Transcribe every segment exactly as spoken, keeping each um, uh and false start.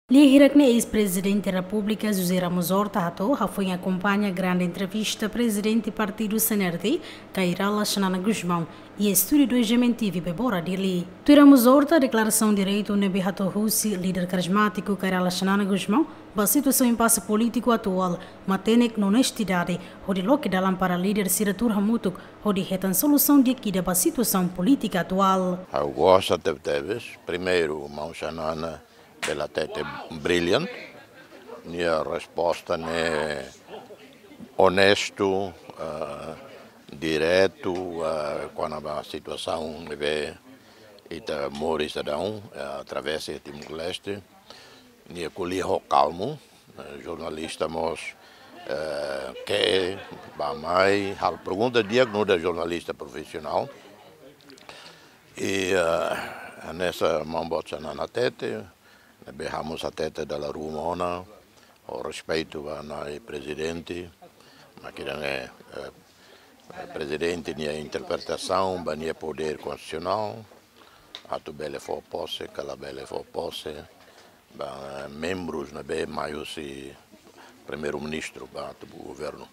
Lia hirak ne'e eis-Prezidente Repúblika José Ramos Horta hato'o hafoin akompaña grande entrevista Prezidente Partidu C N R T, Kay Rala Xanana Gusmão, iha estúdiu dois G M T V Bebora Dili. Tuir Ramos Horta, deklarasaun diretu ne'ebé hato'o husi líder karizmátiku Kay Rala Xanana Gusmão ba situasaun impase polítiku atuál, matenek no onestidade hodi loke dalan para líder sira tuur hamutuk hodi hetan solusaun di'ak ida ba situasaun polítika atuál. Ha'u gosta tebetebes, primeiru, maun Xanana bele hatete brilliant, nia resposta ne'e onestu, eh, diretu, eh, kona-ba situasaun ne'ebé ita moris daudaun, eh, através Timor-Leste. Nia ko'alia ho kalmu, eh, jornalista mós, eh, ke ba mai, halo pergunta di'ak nu'udar jornalista profisionál. I, eh, hanesan maun boot Xanana hatete, ne'ebé ha'u mós hatete dala ruma ona, ho respeitu ba Na'i Prezidente, mak ida-ne'e, eh, Prezidente nia interpretasaun ba nia podér konstitusionál, atu bele fó pose, ka labele fó pose, ba membrus ne'ebé mai husi Primeiru-Ministru ba atu ba governu.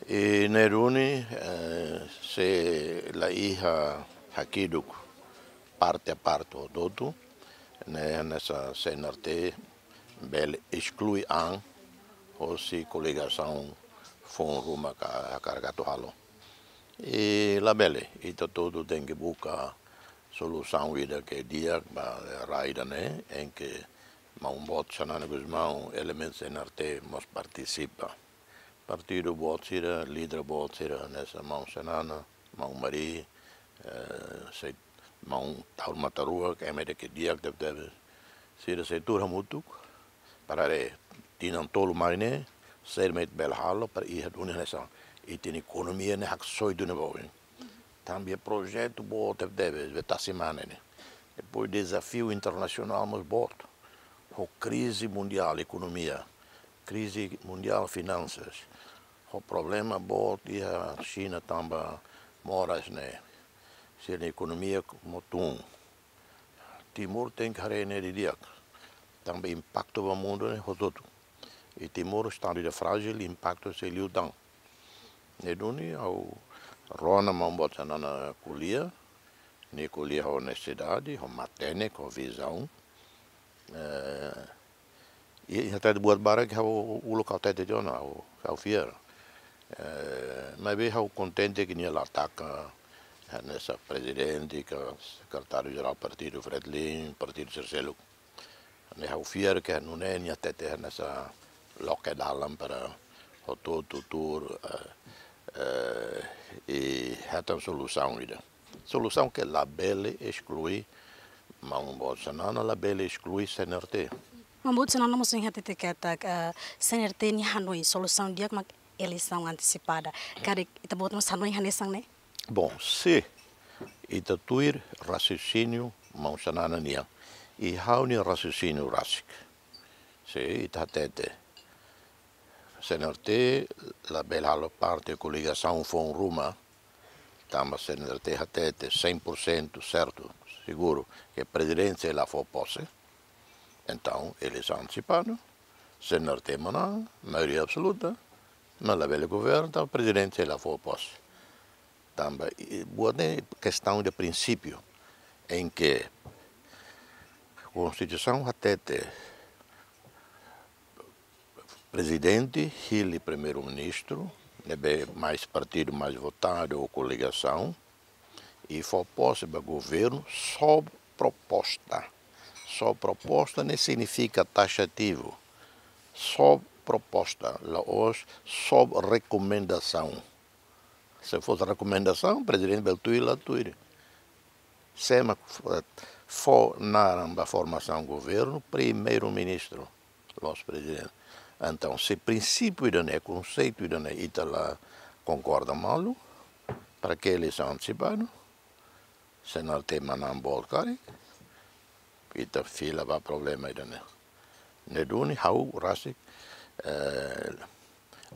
I ne'e duni, eh, se la iha hakiduk parte a parte hotu-hotu, ne'e hanesan C N R T bele esklui an hosi koligasaun foun ruma ka hakarak atu halo. I labele, ita hotu-hotu tenke buka solusaun ida ke di'ak ba rai ida-ne'e, em que maun boot Xanana Gusmão, elementu C N R T mós partisipa. Partidu boot sira, líder boot sira, hanesan maun Xanana, maun Mari, eh, sei, maun Taur Matan Ruak, ema ida ke di'ak tebetebes. Sira sei tuur hamutuk, para haree tinan tolu mai ne'e, saida mak ita bele halo, para iha duni hanesan ita-nia ekonomia ne'e haksoit duni ba oin. Tanba projetu boot tebetebes, be tasi mane ne'e. Depois dezafiu internasionál mós boot. Ho krize mundiál ekonomia, krize mundiál finansas, ho problema boot iha Xina tanba moras ne'e, sira-nia ekonomia mós tun. Timor tenke haree ne'e didi'ak. Tanba impaktu ba mundu ne'e hotu-hotu. I Timor estadu ida frájil, impaktu sei liután. Ne'e duni ha'u rona maun boot Xanana ko'alia, nia ko'alia ho onestidade, ho matenek, ho vizaun. Eh, i, i hatete buat barak ha'u uluk ha'u hatete tiha ona, ha'u, ha'u fiar. Eh, maibé ha'u kontente ke nia la ataka, eh, hanesan prezidente, ka sekretáriu jerál partidu Fretilin, partidu sira seluk. Ne'e ha'u fiar ke nune'e nia hatete hanesan loke dalan para hotu-hotu tuur, eh, eh, i hetan solusaun ida. Solusaun ke labele esklui, maun boot Xanana labele esklui C N R T. Maun boot Xanana mós hatete katak, eh, C N R T nia hanoin solusaun di'ak mak eleisaun antesipada. Karik ita-boot mós hanoin hanesan ne'e? Bom, se ita tuir raciocínio maun Xanana nian, i ha'u-nia raciocínio rasik. Se ita hatete C N R T labele halo parte koligasaun foun ruma, tanba C N R T hatete cem por cento certo, seguro, ke prezidente sei la fó pose. Entaun, eleisaun antesipada, C N R T manán, maioria absoluta, mas labele governa, entaun prezidente sei la fó pose. Tanba, i, buat ne'e kestaun de prinsípiu, em que Konstituisaun hatete prezidente hili primeiru-ministru, ne'ebé mais partidu mais votadu ou koligasaun, i fó pose ba governu sob proposta. Sob proposta ne'e signifika taxativu. Sob proposta, la'ós sob rekomendasaun. Se fosse rekomendasaun, prezidente bele tuir la tuir. Sé mak fó, fó naran ba formasaun governu, primeiru-ministru, la'ós prezidente. Entaun, se prinsípiu ida-ne'e, konseitu ida-ne'e, ita la konkorda malu, para ke eleisaun antesipada, se nia tema na boot karik, ita fila ba problema ida-ne'e. Ne'e duni ha'u rasik, eh,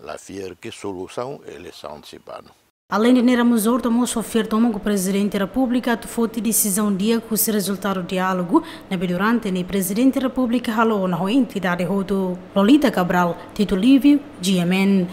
la fiar ke solusaun eleisaun antesipada. Aleinde ne'e, Ramos-Horta mós fó fiar tomak ho Prezidente Repúblika atu foti desizaun di'ak husi rezultadu diálogu ne'ebé durante ne'e Prezidente Repúblika halo ona ho entidade hotu. Lolita Cabral, Tito Livio, G M N.